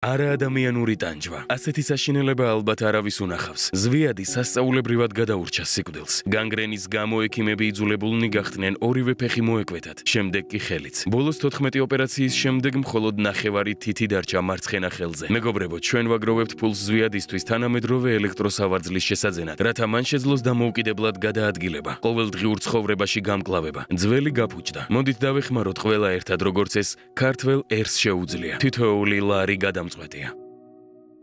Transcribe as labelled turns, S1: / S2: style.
S1: არა ადამიანური ტანჯვა. ასეთი საშინელება ალბათ არავის უნახავს. ზვიადი სასწაულებრივად გადაურჩა სიკვდილს. განგრენის გამო ექიმები იძულებულნი გახდნენ ორივე ფეხი მოეკვეთათ, შემდეგ კი ხელიც. ბოლოს 14 ოპერაციის შემდეგ მხოლოდ ნახევარი თითი დარჩა მარცხენა ხელზე. მეგობრებო, ჩვენ ვაგროვებთ ფულს ზვიადისთვის თანამედროვე ელექტროსავარძლის შესაძენად, რათა მან შეძლოს დამოუკიდებლად გადაადგილება, ყოველდღიურ ცხოვრებაში გამკლავება. ძველი გაფუჭდა. მოდით დავეხმაროთ ყველა ერთად, როგორც ეს ქართველ ერს შეუძლია. თითოეული ლარი გადამწყვეტია.